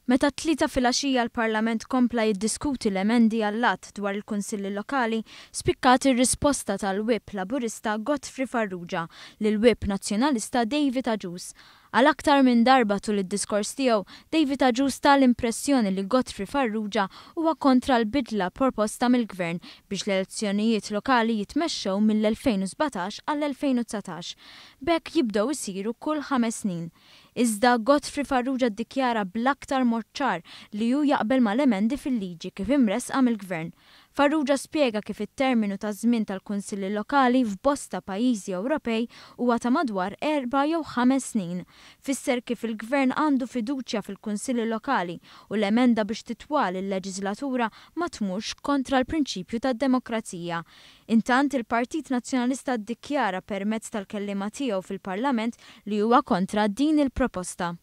Meta t-Tlieta filgħaxija l-Parlament kompla jiddiskuti l-emendi għall-Att dwar il-Kunsilli Lokali, spikkat ir-risposta tal-Whip Laburista Godfrey Farrugia lill-Whip Nazzjonalista David Agius. Għal aktar minn darba tul id-diskors tiegħu, David Agius ta l-impressjoni li Godfrey Farrugia huwa kontra l-bidla proposta mill-Gvern biex l-elezzjonijiet lokali jitmexxew mill-2017 għall-2019. B'hekk jibdew isiru kull 5 snin. Iżda Godfrey Farrugia ddikjara bl-aktar mod ċar li hu jaqbel mal-emendi fil-liġi kif imresqa mill-Gvern. Farrugia spjega kif it-terminu ta' żmien tal-Kunsilli Lokali f'bosta pajjiżi Ewropej huwa ta' madwar 4 jew 5 snin. Fisser kif il-Gvern għandu fiduċja fil-Kunsilli Lokali u l-emenda biex titwal il-leġislatura ma tmurx kontra l-prinċipju tad-demokrazija. Intant, il-Partit Nazzjonalista ddikjara permezz tal-kelliema tiegħu fil-Parlament li huwa kontra din il-proposta.